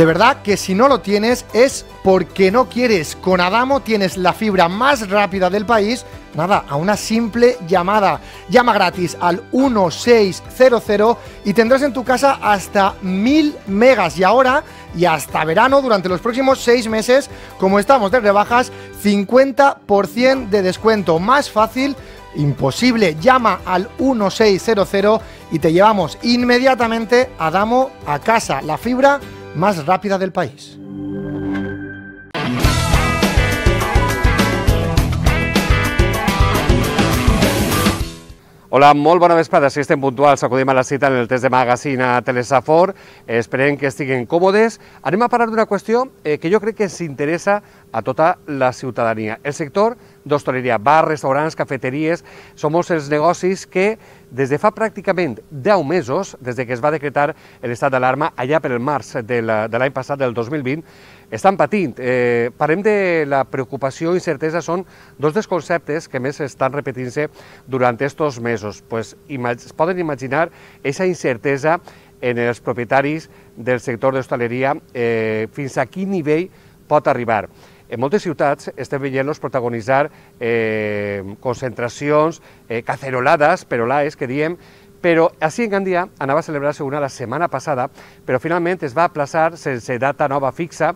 De verdad que si no lo tienes es porque no quieres. Con Adamo tienes la fibra más rápida del país, nada, a una simple llamada. Llama gratis al 1600 y tendrás en tu casa hasta 1000 megas. Y ahora, y hasta verano, durante los próximos 6 meses, como estamos de rebajas, 50% de descuento. Más fácil imposible. Llama al 1600 y te llevamos inmediatamente Adamo a casa. La fibra más rápida del país. Hola, molt bona vesprada. Si estem puntuals, acudim a la cita en el test de magazine a Telesafor. Esperem que estiguin còmodes. Anem a parlar d'una qüestió que jo crec que ens interessa a tota la ciutadania. El sector d'hostaleria, bars, restaurants, cafeteries, són molts els negocis que des de fa pràcticament 10 mesos, des que es va decretar l'estat d'alarma allà per el març de l'any passat, del 2020, estan patint. Parlem de la preocupació i incertesa, són dos dels conceptes que més estan repetint-se durant aquests mesos. Es poden imaginar aquesta incertesa en els propietaris del sector d'hostaleria, fins a quin nivell pot arribar. En moltes ciutats estem veient-los protagonitzar concentracions, cacerolades, perolaes, que diem, però així en Gandia anava a celebrar-se una la setmana passada, però finalment es va aplaçar sense data nova fixa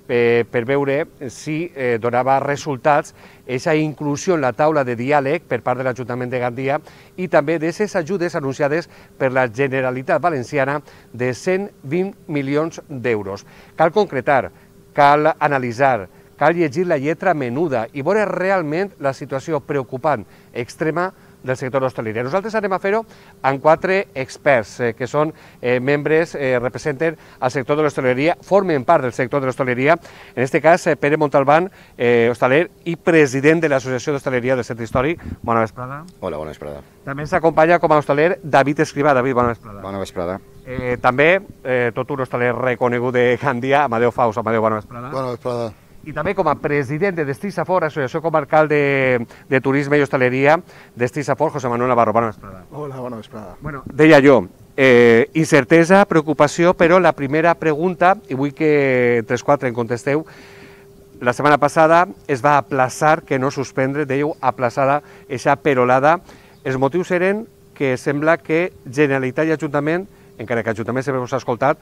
per veure si donava resultats aquesta inclusió en la taula de diàleg per part de l'Ajuntament de Gandia i també d'aquestes ajudes anunciades per la Generalitat Valenciana de 120 milions d'euros. Cal concretar, cal analitzar, cal llegir la lletra menuda i veure realment la situació preocupant, extrema, del sector d'hostaleria. Nosaltres anem a fer-ho amb 4 experts que són membres, representen el sector de l'hostaleria, formen part del sector de l'hostaleria. En aquest cas, Pere Montalbán, hostaler i president de l'Associació d'Hostaleria del Centre Històric. Bona vesprada. Hola, bona vesprada. També s'acompanya com a hostaler David Escrivà. David, bona vesprada. Bona vesprada. També tot un hostaler reconegut de Gandia, Amadeu Faus. Amadeu, bona vesprada. Bona vesprada. I també com a president de Destí Safor, Associació Comarcal de Turisme i Hostaleria, Destí Safor, José Manuel Navarro. Bona vesprada. Hola, bona vesprada. Bueno, deia jo, incertesa, preocupació, però la primera pregunta, i vull que entre els 4 en contesteu, la setmana passada es va aplaçar, que no suspendre, dèieu aplaçada, aquesta perolada. Els motius eren que sembla que Generalitat i Ajuntament, encara que Ajuntament sempre us ha escoltat,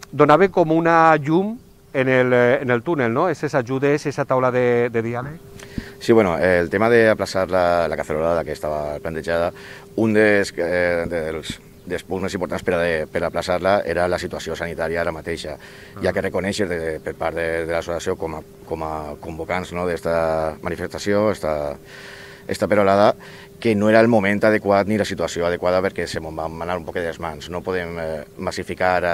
donaven com una llum en el túnel, ¿no? Esas ajudes, esa taula de diàleg. Sí, bueno, el tema de aplaçar la cacerolada que estava plantejada, un dels punts més importants per aplaçar-la era la situació sanitària ara mateixa, ja que reconèixer per part de l'associació com a convocants d'aquesta manifestació, esta perolada, que no era el moment adequat ni la situació adequada perquè se m'ho van anar un poc de les mans. No podem massificar,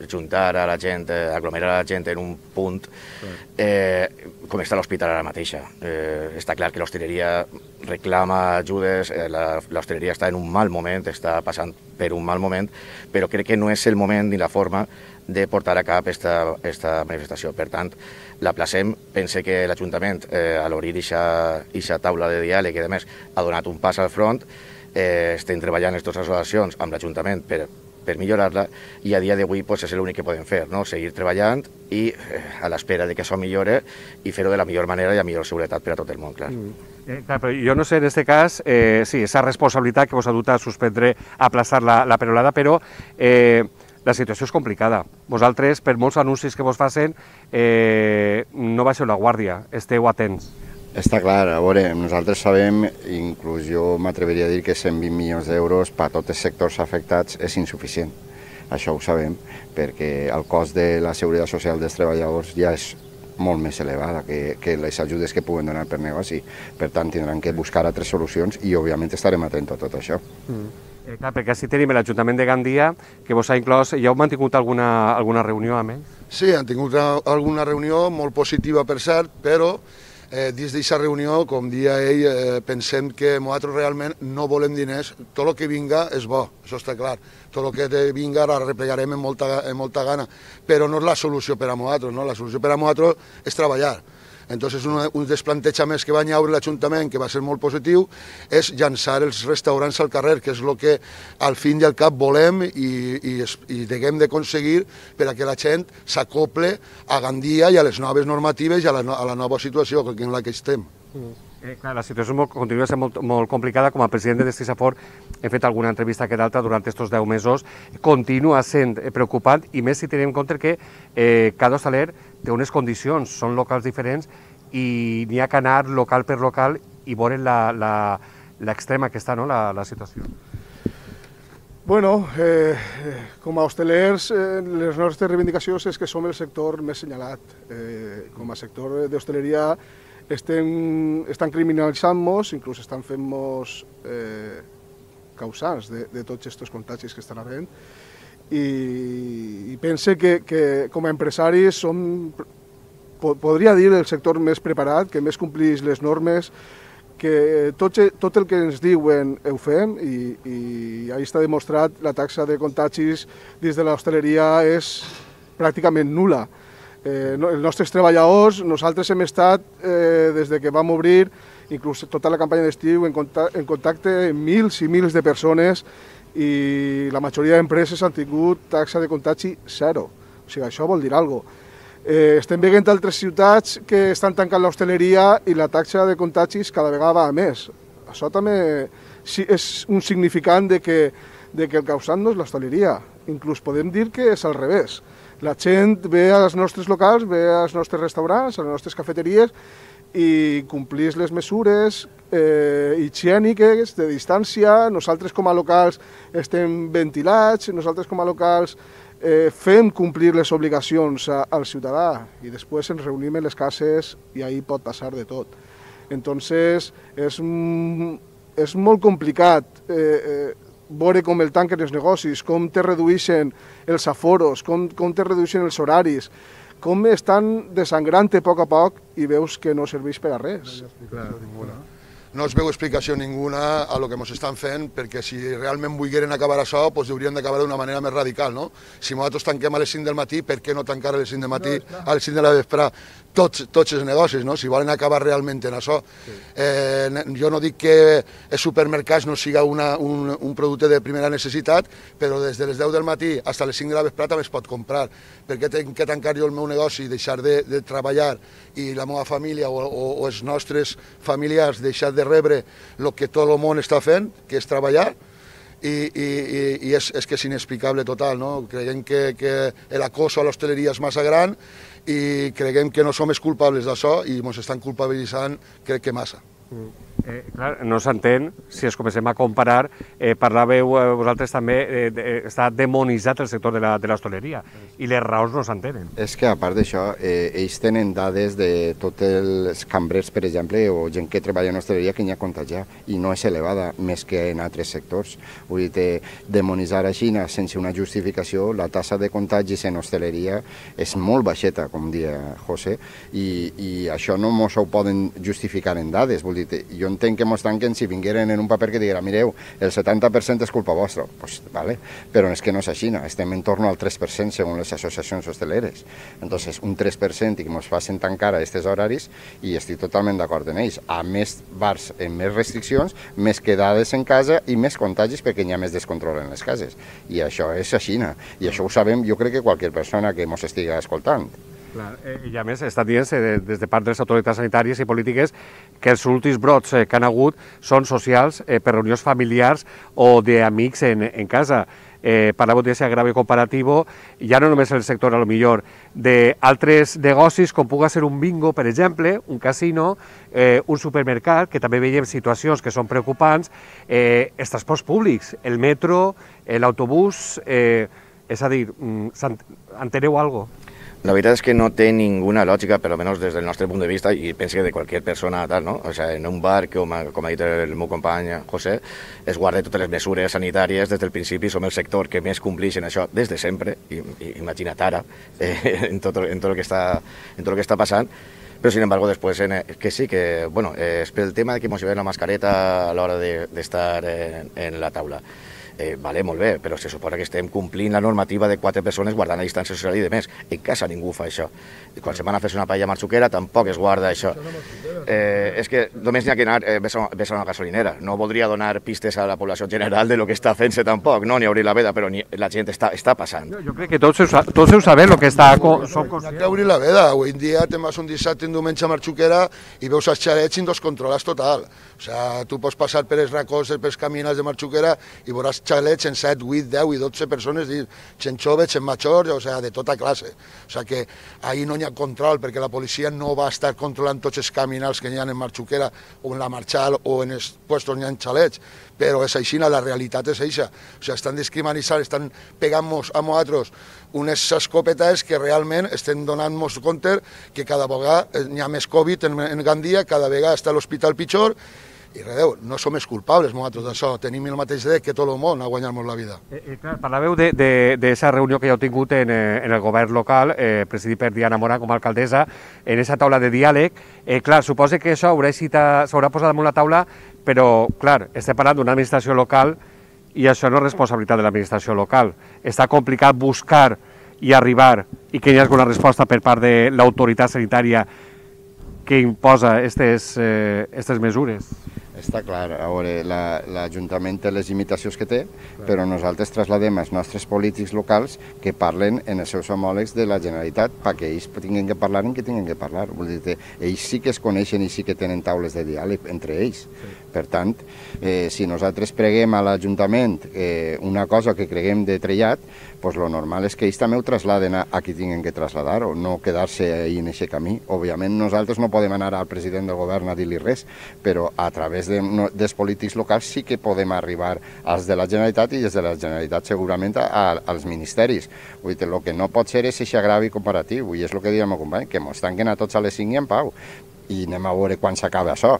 juntar a la gent, aglomerar a la gent en un punt com està l'hospital ara mateixa. Està clar que l'hostaleria reclama ajudes, l'hostaleria està en un mal moment, està passant per un mal moment, però crec que no és el moment ni la forma de portar a cap aquesta manifestació. Per tant, l'aplacem. Pense que l'Ajuntament, a l'obrir aquesta taula de diàleg i a més, ha donat un pas al front. Estem treballant aquestes associacions amb l'Ajuntament per millorar-la i a dia d'avui és l'únic que podem fer, seguir treballant i a l'espera que això millore i fer-ho de la millor manera i amb millor seguretat per a tot el món, clar. Clar, però jo no sé, en aquest cas, sí, esa responsabilitat que vos ha dut a suspendre, a aplaçar la perolada, però la situació és complicada. Vosaltres, per molts anuncis que vos facin, no baixeu la guàrdia, esteu atents. Està clar, a veure, nosaltres sabem, inclús jo m'atreviria a dir que 120 milions d'euros per a tots els sectors afectats és insuficient. Això ho sabem, perquè el cost de la seguretat social dels treballadors ja és molt més elevada que les ajudes que puguen donar per negoci. Per tant, tindran que buscar altres solucions i, òbviament, estarem atents a tot això. Clar, perquè així tenim l'Ajuntament de Gandia, que vos ha inclòs. Ja heu mantingut alguna reunió amb ells? Sí, han tingut alguna reunió molt positiva, per cert, però dins d'aquesta reunió, com dia ell, pensem que nosaltres realment no volem diners. Tot el que vinga és bo, això està clar. Tot el que vinga ara replegarem amb molta gana, però no és la solució per a nosaltres, no? La solució per a nosaltres és treballar. Entonces, un dels plantejaments que va llaure l'Ajuntament, que va ser molt positiu, és llançar els restaurants al carrer, que és el que al fin i al cap volem i haguem d'aconseguir per a que la gent s'acople a Gandia i a les noves normatives i a la nova situació en la que estem. Clar, la situació continua sent molt complicada. Com a president de Destisafor he fet alguna entrevista que d'altra durant aquests 10 mesos. Continua sent preocupant, i més si tenim en compte que cada hostaler té unes condicions, són locals diferents i n'hi ha que anar local per local i veure l'extrema que està, no?, la situació. Bueno, com a hostelers, les nostres reivindicacions és que som el sector més senyalat. Com a sector d'hostaleria estan criminalitzant-nos, inclús estan fent-nos causants de tots aquests contagis que estan havent, i pense que com a empresaris som, podria dir, el sector més preparat, que més complix les normes, que tot el que ens diuen ho fem, i ahí està demostrat la taxa de contagis dins de l'hostaleria és pràcticament nul·la. Els nostres treballadors, nosaltres hem estat, des de que vam obrir, inclús tota la campanya d'estiu, en contacte amb mils i mils de persones, i la majoria d'empreses han tingut taxa de contagi zero. O sigui, això vol dir alguna cosa. Estem veient altres ciutats que estan tancant l'hostaleria i la taxa de contagis cada vegada va a més. Això també és un significant de que el causant no és l'hostaleria. Inclús podem dir que és al revés. La gent ve als nostres locals, ve als nostres restaurants, a les nostres cafeteries, i complís les mesures higièniques, de distància. Nosaltres com a locals estem ventilats, nosaltres com a locals fem complir les obligacions al ciutadà, i després ens reunim en les cases i ahí pot passar de tot. Entonces, és molt complicat veure com el tanquen els negocis, com te redueixen els aforos, com te redueixen els horaris, com estan desangrant a poc i veus que no serveix per a res. No es veu explicació ninguna a lo que ens estan fent, perquè si realment volgueren acabar això, doncs haurien d'acabar d'una manera més radical, no? Si nosaltres tanquem a les 5 del matí, per què no tancar a les 5 del matí, a les 5 de la vesprà, tots els negocis, no? Si volen acabar realment en això. Jo no dic que els supermercats no siga un producte de primera necessitat, però des de les 10 del matí fins a les 5 de la vesprà també es pot comprar. Per què tinc que tancar jo el meu negoci i deixar de treballar, i la meva família o els nostres familiars deixar de rebre el que tot el món està fent, que és treballar, i és que és inexplicable total, no? Creiem que l'acoso a l'hostaleria és massa gran i creiem que no som els culpables d'això i ens estan culpabilitzant, crec que massa. Clar, no s'entén, si es comencem a comparar, parlàveu vosaltres també, està demonitzat el sector de l'hostaleria, i les raons no s'entenen. És que a part d'això, ells tenen dades de tots els cambrers, per exemple, o gent que treballa en hostaleria que n'hi ha contagiat, i no és elevada, més que en altres sectors. Vull dir, demonitzar a Xina sense una justificació, la tassa de contagis en hostaleria és molt baixeta, com dia José, i això no mos ho poden justificar en dades. Vull dir, jo entenc que mos tanquen si vingueren en un paper que diguera, mireu, el 70% és culpa vostra, pues, vale, però és que no és així, estem en torno al 3% segons les associacions hosteleres. Entonces, un 3% i que mos facin tancar a aquests horaris, i estic totalment d'acord en ells. A més bars amb més restriccions, més quedades en casa i més contagis perquè hi ha més descontrol en les cases. I això és així, i això ho sabem, jo crec que qualsevol persona que mos estigui escoltant. I a més estan dient des de part de les autoritats sanitàries i polítiques que els últims brots que han hagut són socials per reunions familiars o d'amics en casa. Parlàveu d'aquest agravio comparatiu, ja no només el sector, a lo millor, d'altres negocis, com pugui ser un bingo, per exemple, un casino, un supermercat, que també veiem situacions que són preocupants, els transports públics, el metro, l'autobús, és a dir, enteneu alguna cosa? La veritat és que no té ninguna lògica, per almenys des del nostre punt de vista, i penso que de qualsevol persona tal, no? O sigui, en un bar, com ha dit el meu company José, es guarda totes les mesures sanitàries des del principi, som el sector que més compleix en això des de sempre, i imagina't ara, en tot el que està passant, però sin embargo després que sí, que bueno, és pel tema que ens llevem la mascareta a l'hora d'estar en la taula. Vale, molt bé, però se suposa que estem complint la normativa de 4 persones guardant la distància social i de més. En casa ningú fa això. Quan se'n van a fer una paella marxuquera tampoc es guarda això. És que només n'hi ha que anar, ves a una gasolinera. No voldria donar pistes a la població general de lo que està fent-se tampoc, no, ni obrir la veda, però la gent està passant. Jo crec que tots heu sabut el que està... N'hi ha que obrir la veda. Avui en dia te'n vas un dissabte, un diumenge a Marxuquera i veus els xalets i no els controles total. O sigui, tu pots passar per els racons, pels camins de Marxuquera i veuràs xalets en 7, 8, 10 i 12 persones, gent joves, gent majors, o sigui, de tota classe. O sigui que ahir no hi ha control, perquè la policia no va estar controlant tots els caminals que hi ha en Marxuquera o en la Marxal o en els puestos on hi ha xalets, però és així, la realitat és això. O sigui, estan discriminant, estan pegant-nos a nosaltres unes escopetes que realment estem donant-nos compte que cada vegada hi ha més Covid en Gandia, cada vegada està a l'hospital pitjor, i redeu, no som els culpables nosaltres d'això, tenim el mateix dret que tot el món a guanyar-nos la vida. Clar, parlàveu d'aquesta reunió que ja heu tingut en el govern local, presidit per Diana Mora com a alcaldessa, en aquesta taula de diàleg. Clar, suposa que això s'haurà posat damunt la taula, però, clar, estem parlant d'una administració local i això no és responsabilitat de l'administració local. Està complicat buscar i arribar i que hi hagi una resposta per part de l'autoritat sanitària que imposa aquestes mesures. Està clar, a veure, l'Ajuntament té les limitacions que té, però nosaltres trasladem als nostres polítics locals que parlen en els seus homòlegs de la Generalitat perquè ells tinguin que parlar en què tinguin que parlar. Vull dir que ells sí que es coneixen i sí que tenen taules de diàleg entre ells. Per tant, si nosaltres preguem a l'Ajuntament una cosa que creguem de trellat, doncs el normal és que ells també ho trasladen a qui tinguin que traslladar o no quedar-se ahí en aquest camí. Òbviament nosaltres no podem anar al president del govern a dir-li res, però a través dels polítics locals sí que podem arribar als de la Generalitat i des de la Generalitat segurament als ministeris. Vull dir, el que no pot ser és aquest agravi comparatiu, i és el que diem al company, que ens tanquen a tots a les 5 i en pau, i anem a veure quan s'acaba això.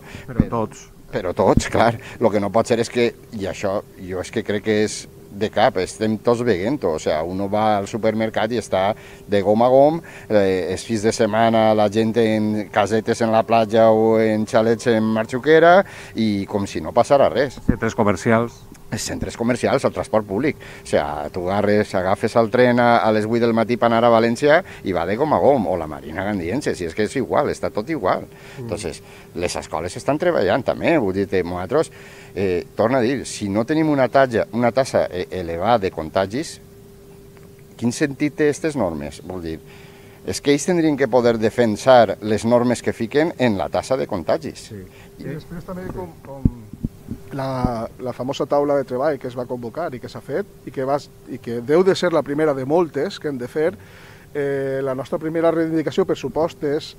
Però tots, clar. El que no pot ser és que, i això jo és que crec que és de cap, estem tots veient-ho, o sigui, uno va al supermercat i està de gom a gom, els fins de setmana la gent en casetes en la platja o en xalets en Marxuquera i com si no passara res. Centres comercials. Els centres comercials, el transport públic. O sigui, tu agafes el tren a les 8 del matí per anar a València i va de gom a gom, o la Marina Gandiense, si és que és igual, està tot igual. Entonces, les escoles estan treballant també, vull dir, nosaltres, torna a dir, si no tenim una tassa elevada de contagis, quin sentit té aquestes normes? Vull dir, és que ells tindrien que poder defensar les normes que fiquen en la tassa de contagis. I després també com la famosa taula de treball que es va convocar i que s'ha fet i que deu de ser la primera de moltes que hem de fer. La nostra primera reivindicació, per supost, és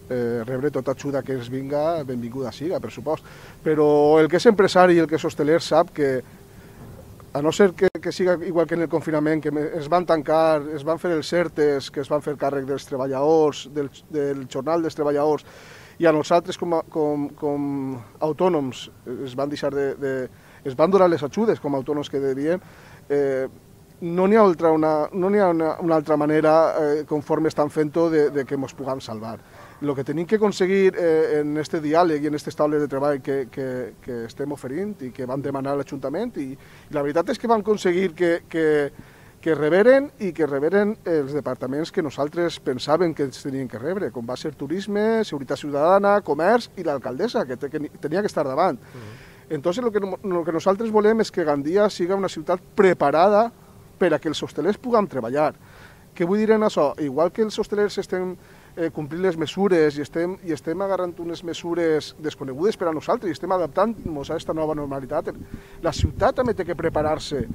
rebre tota ajuda que ens vinga, benvinguda siga, per supost. Però el que és empresari i el que és hosteler sap que, a no ser que siga igual que en el confinament, que es van tancar, es van fer els ERTEs, que es van fer càrrec dels treballadors, del jornal dels treballadors, i a nosaltres com autònoms es van donar les ajudes com a autònoms que devien, no n'hi ha una altra manera conforme estan fent-ho de que ens puguem salvar. El que tenim que aconseguir en aquest diàleg i en aquestes taules de treball que estem oferint i que vam demanar a l'Ajuntament, i la veritat és que vam aconseguir que reberen i que reberen els departaments que nosaltres pensàvem que ens tenien que rebre, com va ser Turisme, Seguretat Ciutadana, Comerç i l'alcaldessa, que tenia que estar davant. Entonces, el que nosaltres volem és que Gandia siga una ciutat preparada per a que els hostelers puguem treballar. Què vull dir en això? Igual que els hostelers estem complint les mesures i estem agarrant unes mesures desconegudes per a nosaltres i estem adaptant-nos a aquesta nova normalitat, la ciutat també té que preparar-se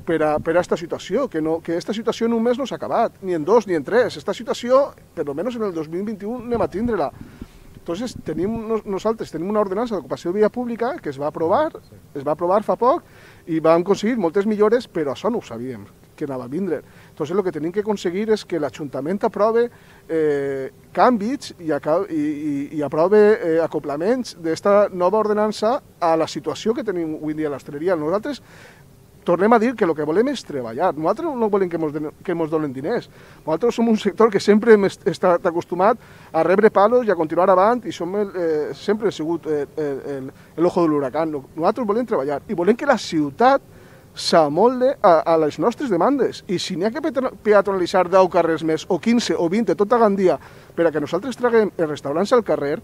per a aquesta situació, que aquesta situació només no s'ha acabat, ni en 2 ni en 3. Aquesta situació, per almenys en el 2021, anem a tindre-la. Entonces, nosaltres tenim una ordenança d'ocupació de via pública que es va aprovar fa poc i vam aconseguir moltes millores, però això no ho sabíem, que anava a vindre. Entonces, el que tenim que aconseguir és que l'Ajuntament aprove canvis i aprove acoplaments d'esta nova ordenança a la situació que tenim avui dia a l'hostaleria. Nosaltres tornem a dir que el que volem és treballar. Nosaltres no volem que ens donen diners. Nosaltres som un sector que sempre hem estat acostumat a rebre palos i a continuar avant i sempre hem sigut l'ojo de l'huracán. Nosaltres volem treballar i volem que la ciutat s'amolde a les nostres demandes. I si n'hi ha que peatonalitzar 10 carrers més, o 15 o 20, tota Gandia, per a que nosaltres traguem els restaurants al carrer,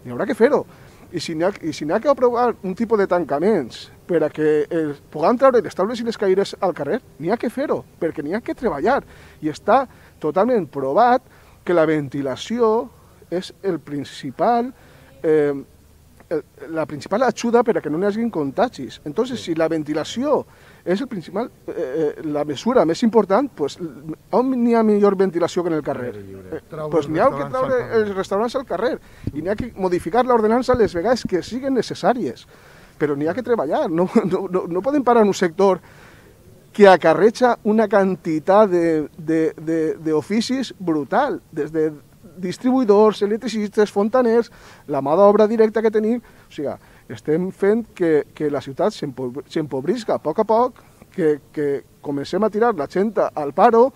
hi haurà que fer-ho. I si n'hi ha que aprovar un tipus de tancaments per a que puguem treure les taules i les caires al carrer, n'hi ha que fer-ho, perquè n'hi ha que treballar. I està totalment provat que la ventilació és la principal ajuda per a que no hi hagi contagis. Entonces, si la ventilació és la mesura més important, pues, on n'hi ha millor ventilació que en el carrer? Pues n'hi ha que treure els restaurants al carrer i n'hi ha que modificar l'ordenança les vegades que siguin necessàries. Però n'hi ha que treballar. No podem parar en un sector que acarreja una quantitat d'oficis brutal, des de distribuïdors, electricistes, fontaners, la mà d'obra directa que tenim. O sigui, estem fent que la ciutat s'empobrisca a poc, que comencem a tirar la gent al paro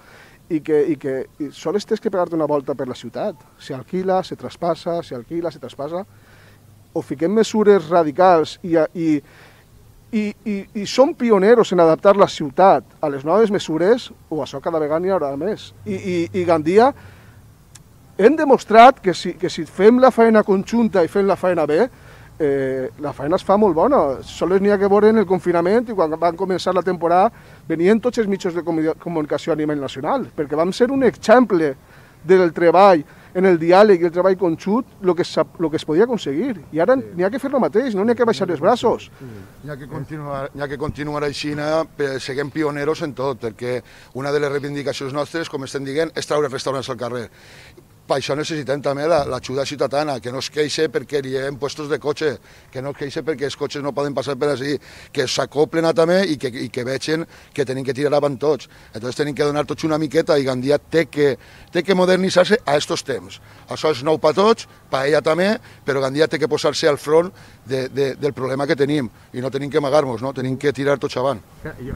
i que sols tens que pegar-te una volta per la ciutat. S'alquila, se traspassa, o fiquem mesures radicals i som pioneros en adaptar la ciutat a les noves mesures, o això cada vegada n'hi haurà més. I Gandia hem demostrat que si fem la feina conjunta i fem la feina bé, la feina es fa molt bona. Sols n'hi ha que veure en el confinament i quan van començar la temporada venien tots els mitjans de comunicació a nivell nacional, perquè vam ser un exemple del treball en el diàleg i el treball conjunt el que es podia aconseguir. I ara n'hi ha que fer el mateix, no n'hi ha que baixar els braços. N'hi ha que continuar així, seguim pioneros en tot, perquè una de les reivindicacions nostres, com estem dient, és treure restaurants al carrer. Per això necessitem també l'ajuda ciutadana, que no es queixe perquè hi ha puestos de cotxe, que no es queixe perquè els cotxes no poden passar per així, que s'acoplen també i que vegin que tenim que tirar avant tots. Entonces tenim que donar tots una miqueta i Gandia té que modernitzar-se a estos temps. Això és nou per tots, per ella també, però Gandia té que posar-se al front del problema que tenim i no tenim que amagar-nos, no? Tenim que tirar tots avant.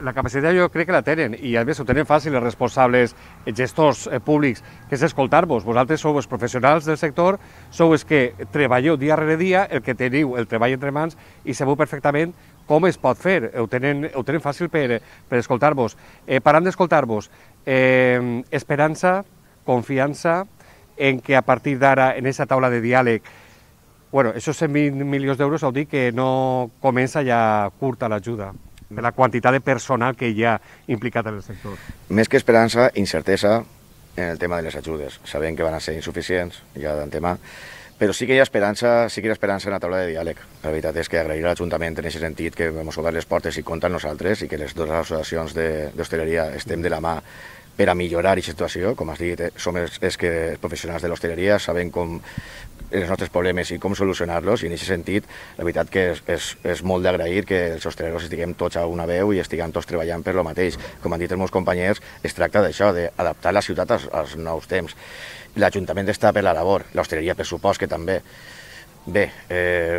La capacitat jo crec que la tenen i a més ho tenen fàcil els responsables gestors públics, que és escoltar-vos. Vosaltres sou els professionals del sector, sou els que treballeu dia rere dia, el que teniu el treball entre mans i sabeu perfectament com es pot fer. Ho tenen fàcil per escoltar-vos. Parlant d'escoltar-vos, esperança, confiança en que a partir d'ara, en aquesta taula de diàleg, bueno, esos 120 milions d'euros vol dir que no comença ja curta l'ajuda, de la quantitat de personal que hi ha implicat en el sector. Més que esperança, incertesa en el tema de les ajudes. Sabem que van a ser insuficients, ja d'antemà, però sí que hi ha esperança en la taula de diàleg. La veritat és que agrair a l'Ajuntament en aquest sentit que hem obert les portes i compta amb nosaltres i que les dues associacions d'hostaleria estem de la mà per a millorar aquesta situació. Com has dit, som els professionals de l'hostaleria, sabem com els nostres problemes i com solucionar-los, i en aquest sentit la veritat que és molt d'agrair que els hostaleros estiguem tots a una veu i estiguem tots treballant per lo mateix. Com han dit els meus companys, es tracta d'això, d'adaptar la ciutat als nous temps. L'Ajuntament està per la labor, l'hostaleria per supost que també. Bé,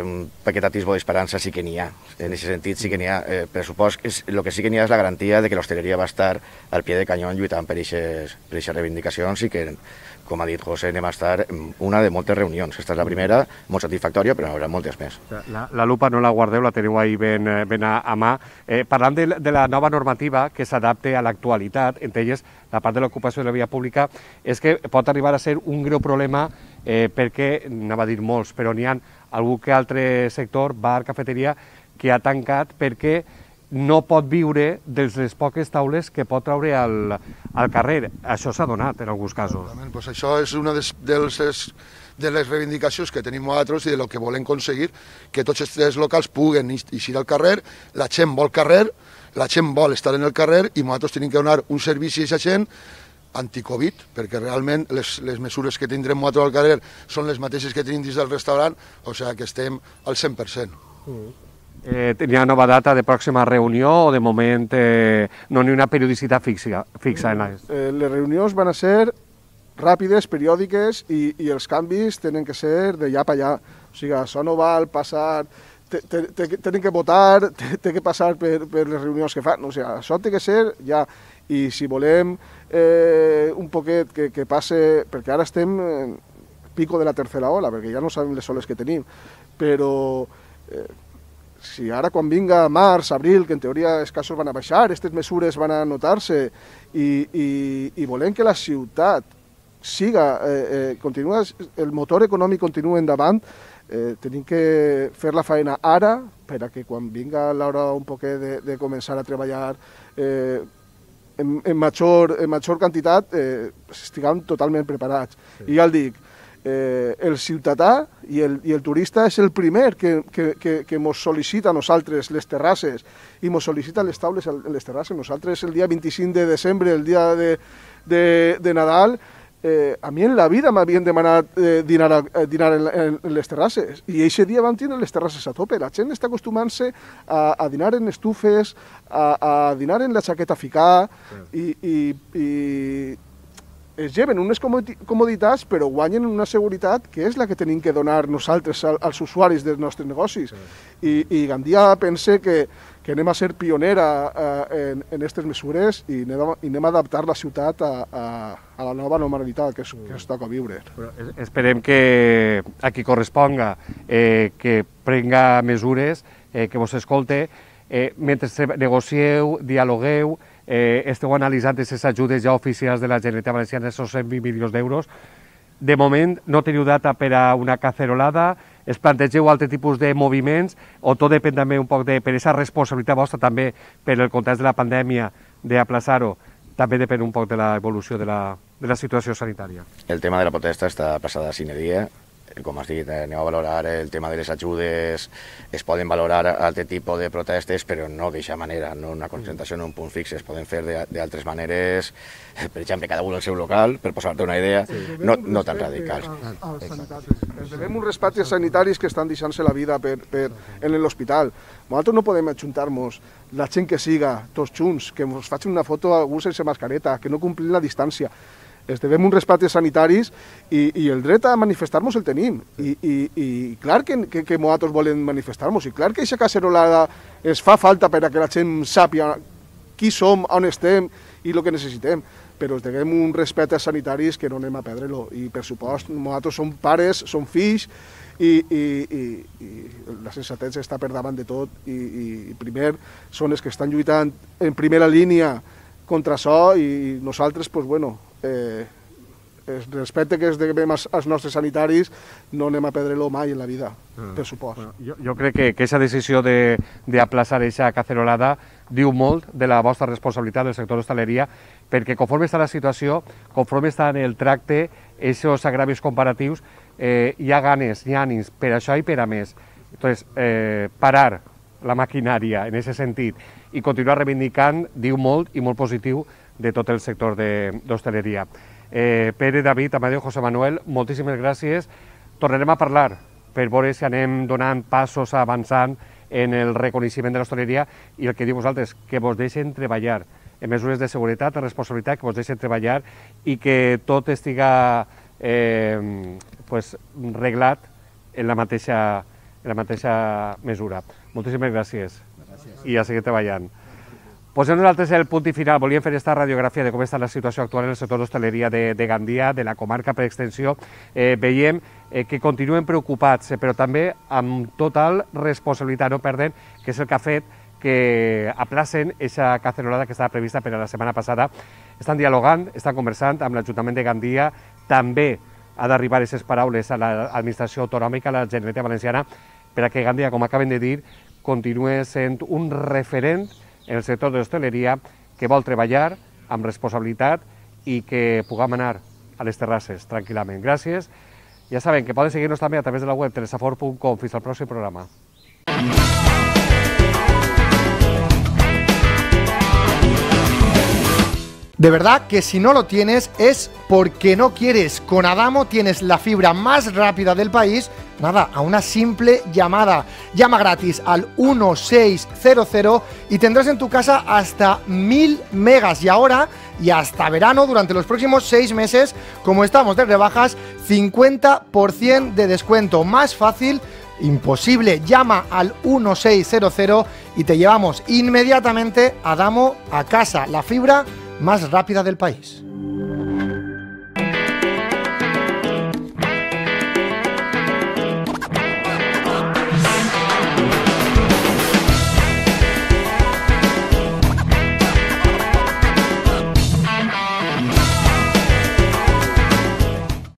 un paquet atisbo d'esperança sí que n'hi ha, en aquest sentit sí que n'hi ha. Per supost, el que sí que n'hi ha és la garantia de que l'hostaleria va estar al pie de canyó lluitant per aquestes reivindicacions i que, com ha dit José, anem a estar en una de moltes reunions. Aquesta és la primera, molt satisfactòria, però n'hi haurà moltes més. La lupa no la guardeu, la teniu ahí ben a mà. Parlant de la nova normativa que s'adapte a l'actualitat, entre elles la part de l'ocupació de la via pública, és que pot arribar a ser un greu problema perquè, anava a dir molts, però n'hi ha algun que altre sector, bar, cafeteria, que ha tancat perquè no pot viure de les poques taules que pot treure al carrer. Això s'ha donat en alguns casos. Pues això és una de les reivindicacions que tenim nosaltres i de lo que volem aconseguir, que tots els locals puguen eixir al carrer, la gent vol carrer, la gent vol estar en el carrer i nosaltres tenim que donar un servici a aquesta gent anti-Covid, perquè realment les mesures que tindrem nosaltres al carrer són les mateixes que tenim dins del restaurant, o sigui que estem al 100%. Hi ha nova data de pròxima reunió o de moment no hi ha una periodicitat fixa en les... Les reunions van a ser ràpides, periòdiques i els canvis tenen que ser de allà per allà. O sigui, això no val passar... Tenen que votar, té que passar per les reunions que fan. O sigui, això té que ser ja. I si volem un poquet que passe... Perquè ara estem en pico de la tercera ola, perquè ja no sabem les oles que tenim, però si ara quan vinga març, abril, que en teoria els casos van a baixar, aquestes mesures van a notar-se i volem que la ciutat siga, el motor econòmic continua endavant, tenim que fer la feina ara per a que quan vinga l'hora un poquet de començar a treballar en major quantitat estiguem totalment preparats. I ja el dic, el ciutadà i el turista és el primer que mos sol·licita a nosaltres les terrasses i mos sol·licita les taules en les terrasses. Nosaltres el dia 25 de desembre, el dia de Nadal, a mi en la vida m'havien demanat dinar en les terrasses i aquest dia vam tenir les terrasses a tope. La gent està acostumant-se a dinar en estufes, a dinar en la xaqueta a ficar i es lleven unes comoditats però guanyen una seguretat que és la que tenim que donar nosaltres als usuaris dels nostres negocis. I Gandia pense que anem a ser pionera en aquestes mesures i anem a adaptar la ciutat a la nova normalitat que es toca viure. Esperem que a qui corresponga que prenga mesures, que vos escolte, mentre negocieu, dialogueu, esteu analitzant aquestes ajudes ja oficials de la Generalitat Valenciana, aquests 120 milions d'euros. De moment no teniu data per a una cacerolada, es plantegeu altre tipus de moviments o tot depèn també un poc per aquesta responsabilitat vostra també per el context de la pandèmia d'aplaçar-ho, també depèn un poc de l'evolució de la situació sanitària. El tema de la protesta està passada sine dia. Com has dit, anem a valorar el tema de les ajudes, es poden valorar altre tipus de protestes, però no d'aquesta manera, no una concentració en un punt fix, es poden fer d'altres maneres, per exemple, cada un al seu local, per posar-te una idea, no tan radicals. Ens devem uns respectes sanitaris que estan deixant-se la vida en l'hospital. Nosaltres no podem ajuntar-nos, la gent que siga, tots junts, que ens facin una foto algú sense mascareta, que no complim la distància. Es devem uns respectes sanitaris i el dret a manifestar-nos el tenim. I clar que nosaltres volem manifestar-nos i clar que aquesta cacerolada es fa falta per a que la gent sàpiga qui som, on estem i el que necessitem. Però es devem uns respectes sanitaris que no anem a perdre-lo. I per supost, nosaltres som pares, som fills i la sensatesa està per davant de tot i primer són els que estan lluitant en primera línia contra això i nosaltres, doncs, bueno, el respecte que es devem als nostres sanitaris no anem a perdre-lo mai en la vida, per supost. Jo crec que aquesta decisió d'aplaçar aquesta cacerolada diu molt de la vostra responsabilitat del sector d'hostaleria, perquè conforme està la situació, conforme està en el tracte, aquests agravis comparatius, hi ha ganes, hi ha ànims per això i per a més. Entonces, parar la maquinària en aquest sentit i continuar reivindicant diu molt i molt positiu de tot el sector d'hostaleria. Pere, David, Amadeu, José Manuel, moltíssimes gràcies. Tornarem a parlar per veure si anem donant passos avançant en el reconeixement de l'hostaleria i el que diu vosaltres, que vos deixen treballar en mesures de seguretat, de responsabilitat, que vos deixen treballar i que tot estiga reglat en la mateixa mesura. Moltíssimes gràcies i a seguir treballant. Posem nosaltres el punt i final. Volíem fer aquesta radiografia de com està la situació actual en el sector d'hostaleria de Gandia, de la comarca per extensió. Veiem que continuen preocupats, però també amb total responsabilitat, no perdent, que és el que ha fet que aplacen aquesta cacerolada que estava prevista per a la setmana passada. Estan dialogant, estan conversant amb l'Ajuntament de Gandia, també ha d'arribar aquestes paraules a l'administració autonòmica, a la Generalitat Valenciana, per a que Gandia, com acaben de dir, continua sent un referent en el sector de l'hostaleria que vol treballar amb responsabilitat i que puguem anar a les terrasses tranquil·lament. Gràcies. Ja saben que poden seguir-nos també a través de la web telesafor.com. Fins al pròxim programa. De verdad que si no lo tienes es porque no quieres. Con Adamo tienes la fibra más rápida del país, nada, a una simple llamada. Llama gratis al 1600 y tendrás en tu casa hasta 1000 megas. Y ahora, y hasta verano, durante los próximos 6 meses, como estamos de rebajas, 50% de descuento. Más fácil, imposible. Llama al 1600 y te llevamos inmediatamente Adamo a casa. La fibra más rápida del país.